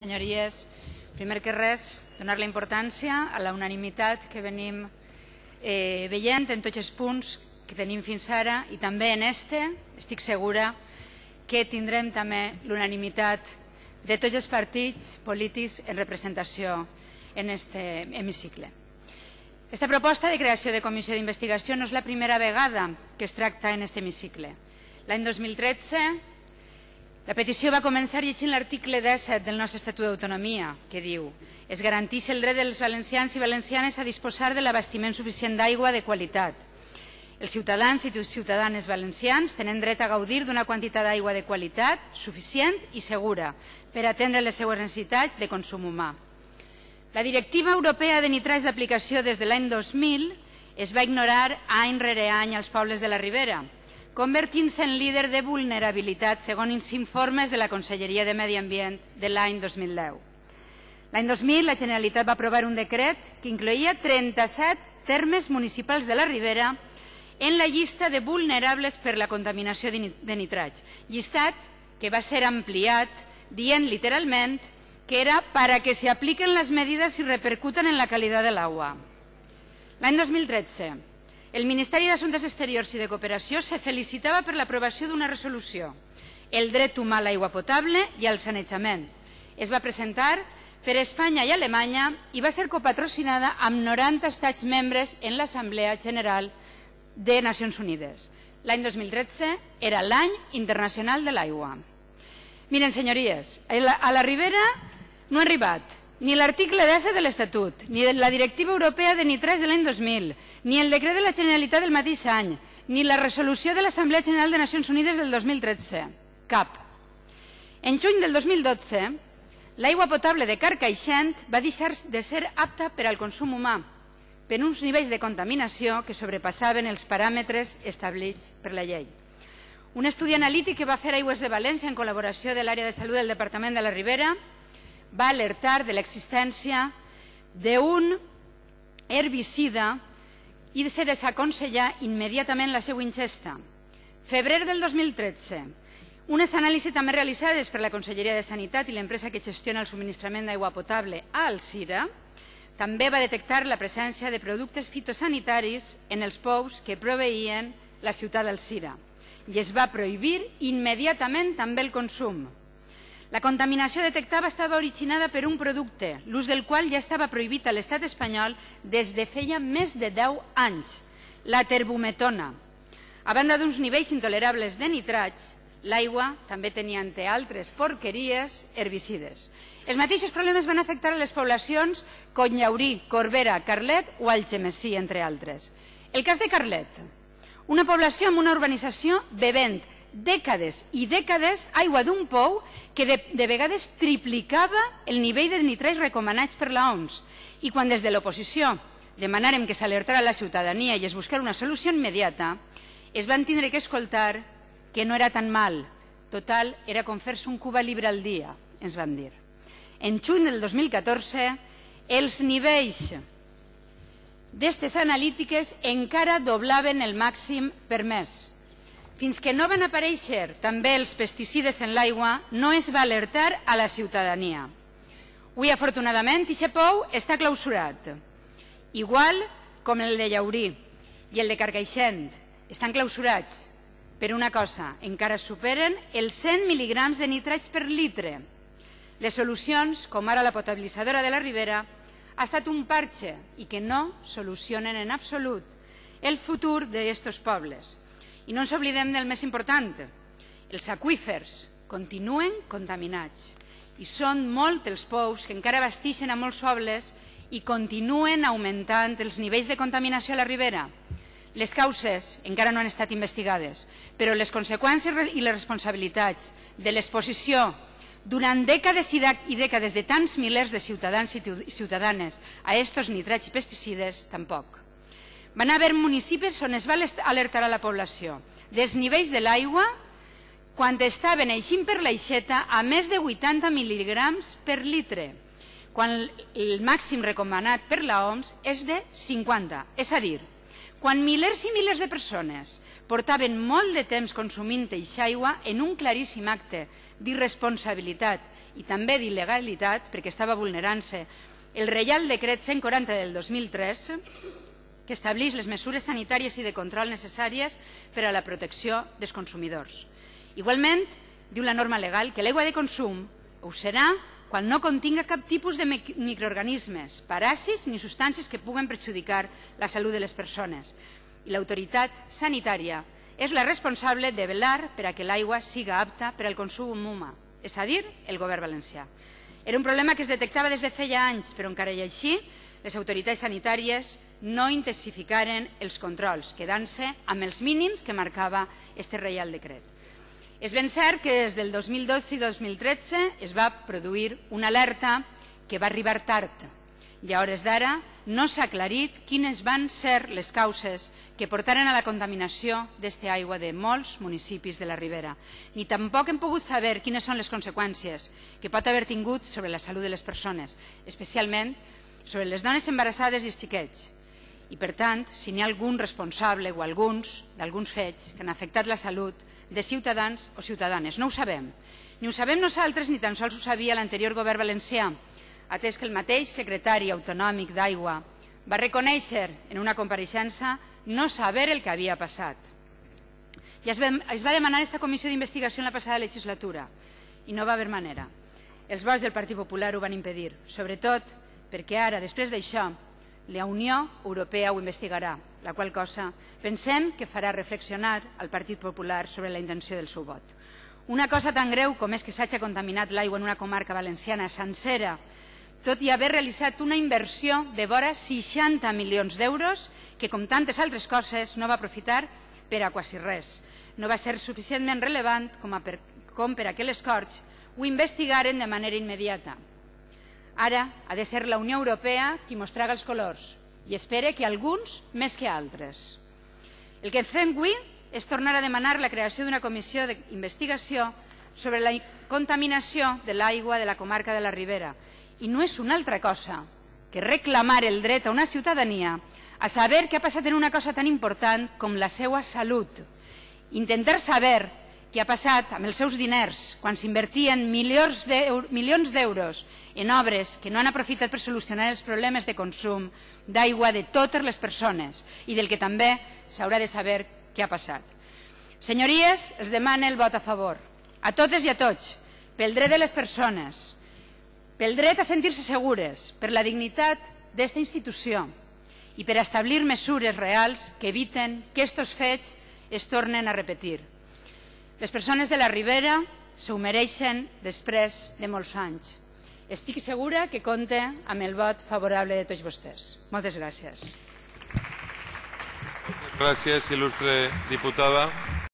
Senyories, primer que res, donar la importància a la unanimitat que venim veient en tots els punts que tenim fins ara i també en estic segura que tindrem també l'unanimitat de tots els partits polítics en representació en aquest hemicicle. Aquesta proposta de creació de comissió d'investigació no és la primera vegada que es tracta en aquest hemicicle. L'any 2013 la petició va començar llegint l'article 17 del nostre Estatut d'Autonomia, que diu: es garanteix el dret dels valencians i valencianes a disposar de l'abastiment suficient d'aigua de qualitat. Els ciutadans i ciutadanes valencians tenen dret a gaudir d'una quantitat d'aigua de qualitat suficient i segura per atendre les seues necessitats de consum humà. La Directiva Europea de Nitrats d'aplicació des de l'any 2000 es va ignorar any rere any als pobles de la Ribera, convertint-se en líder de vulnerabilitat segons informes de la Conselleria de Medi Ambient de l'any 2010. L'any 2000 la Generalitat va aprovar un decret que incloïa 37 termes municipals de la Ribera en la llista de vulnerables per la contaminació de nitrats, llistat que va ser ampliat dient literalment que era para que se apliquen las medidas y repercutan en la calidad del agua. L'any 2013 el Ministeri d'Assumptes Exteriors i de Cooperació se felicitava per l'aprovació d'una resolució, el dret humà a l'aigua potable i al sanejament. Es va presentar per Espanya i Alemanya i va ser copatrocinada amb 90 estats membres en l'Assemblea General de Nacions Unides. L'any 2013 era l'any internacional de l'aigua. Miren, senyories, a la Ribera no ha arribat ni l'article 10 de l'Estatut, ni la Directiva Europea de Nitrats de l'any 2000, ni el decret de la Generalitat del mateix any, ni la resolució de l'Assemblea General de Nacions Unides del 2013. Cap. En juny del 2012, l'aigua potable de Carcaixent va deixar de ser apta per al consum humà per uns nivells de contaminació que sobrepassaven els paràmetres establerts per la llei. Un estudi analític que va fer Aigües de València en col·laboració de l'àrea de salut del Departament de la Ribera va alertar de l'existència d'un herbicida i se desaconsella immediatament la seva ingesta. Febrer del 2013, unes anàlisis també realitzades per la Conselleria de Sanitat i l'empresa que gestiona el subministrament d'aigua potable a Alzira també va detectar la presència de productes fitosanitaris en els pous que proveïen la ciutat d'Alzira i es va prohibir immediatament també el consum. La contaminació detectada estava originada per un producte, l'ús del qual ja estava prohibit a l'Estat espanyol des de feia més de 10 anys, la terbumetona. A banda d'uns nivells intolerables de nitrats, l'aigua també tenia, entre altres porqueries, herbicides. Els mateixos problemes van afectar a les poblacions Cotlllaurí, Corbera, Carlet o Algemesí, entre altres. El cas de Carlet, una població amb una urbanització bevent dècades i dècades aigua d'un pou que de vegades triplicava el nivell de nitrats recomanats per l'OMS. I quan des de l'oposició demanàrem que s'alertara la ciutadania i es buscara una solució immediata, es van tindre que escoltar que no era tan mal. Total, era com fer-se un Cuba Libre al dia, ens van dir. En juny del 2014, els nivells d'aquestes analítiques encara doblaven el màxim permès. Fins que no van aparèixer també els pesticides en l'aigua, no es va alertar a la ciutadania. Avui, afortunadament, aquest pou està clausurat, igual com el de Llaurí i el de Carcaixent. Estan clausurats per una cosa, encara superen els 100 mil·lígrams de nitrats per litre. Les solucions, com ara la potabilitzadora de la Ribera, ha estat un parche i que no solucionen en absolut el futur d'aquests pobles. I no ens oblidem del més important, els aqüífers continuen contaminats i són molts els pous que encara abasteixen a molts pobles i continuen augmentant els nivells de contaminació a la Ribera. Les causes encara no han estat investigades, però les conseqüències i les responsabilitats de l'exposició durant dècades i dècades de tants milers de ciutadans i ciutadanes a aquests nitrats i pesticides, tampoc. Van haver municipis on es va alertar a la població dels nivells de l'aigua quan estaven eixint per l'aixeta a més de 80 mil·lígrams per litre, quan el màxim recomanat per l'OMS és de 50. És a dir, quan milers i milers de persones portaven molt de temps consumint eixa aigua en un claríssim acte d'irresponsabilitat i també d'il·legalitat, perquè estava vulnerant-se el Reial Decret 140 del 2003, que estableix les mesures sanitàries i de control necessàries per a la protecció dels consumidors. Igualment, diu la norma legal que l'aigua de consum ho serà quan no continga cap tipus de microorganismes, paràsits ni substàncies que puguen perjudicar la salut de les persones. I l'autoritat sanitària és la responsable de velar per a que l'aigua siga apta per al consum humà, és a dir, el govern valencià. Era un problema que es detectava des de feia anys, però encara i així les autoritats sanitàries no intensificaren els controls, quedant-se amb els mínims que marcava aquest Reial Decret. És ben cert que des del 2012 i 2013 es va produir una alerta que va arribar tard i a hores d'ara no s'ha aclarit quines van ser les causes que portaren a la contaminació d'aquesta aigua de molts municipis de la Ribera, ni tampoc hem pogut saber quines són les conseqüències que pot haver tingut sobre la salut de les persones, especialment sobre les dones embarassades i els xiquets. I, per tant, si n'hi ha algun responsable o alguns d'alguns fets que han afectat la salut de ciutadans o ciutadanes. No ho sabem. Ni ho sabem nosaltres ni tan sols ho sabia l'anterior govern valencià, atès que el mateix secretari autonòmic d'Aigua va reconèixer en una compareixença no saber el que havia passat. I es va demanar aquesta comissió d'investigació en la passada legislatura i no va haver manera. Els vots del Partit Popular ho van impedir, sobretot perquè ara, després d'això, la Unió Europea ho investigarà, la qual cosa pensem que farà reflexionar al Partit Popular sobre la intenció del seu vot. Una cosa tan greu com és que s'hagi contaminat l'aigua en una comarca valenciana sencera, tot i haver realitzat una inversió de vora 60 milions d'euros que, com tantes altres coses, no va aprofitar per a quasi res. No va ser suficientment relevant com per a que les Corts ho investigaren de manera immediata. Ara ha de ser la Unió Europea qui mostrarà els colors i espere que alguns més que altres. El que fem avui és tornar a demanar la creació d'una comissió d'investigació sobre la contaminació de l'aigua de la comarca de la Ribera i no és una altra cosa que reclamar el dret a una ciutadania a saber què ha passat en una cosa tan important com la seva salut. Intentar saber què ha passat amb els seus diners quan s'invertien milions d'euros en obres que no han aprofitat per solucionar els problemes de consum d'aigua de totes les persones i del que també s'haurà de saber què ha passat. Senyories, els demano el vot a favor, a totes i a tots, pel dret de les persones, pel dret a sentir-se segures, per la dignitat d'esta institució i per establir mesures reals que eviten que aquests fets es tornen a repetir. Les persones de la Ribera s'ho mereixen després de molts anys. Estic segura que compte amb el vot favorable de tots vostès. Moltes gràcies. Gràcies, il·lustre diputada.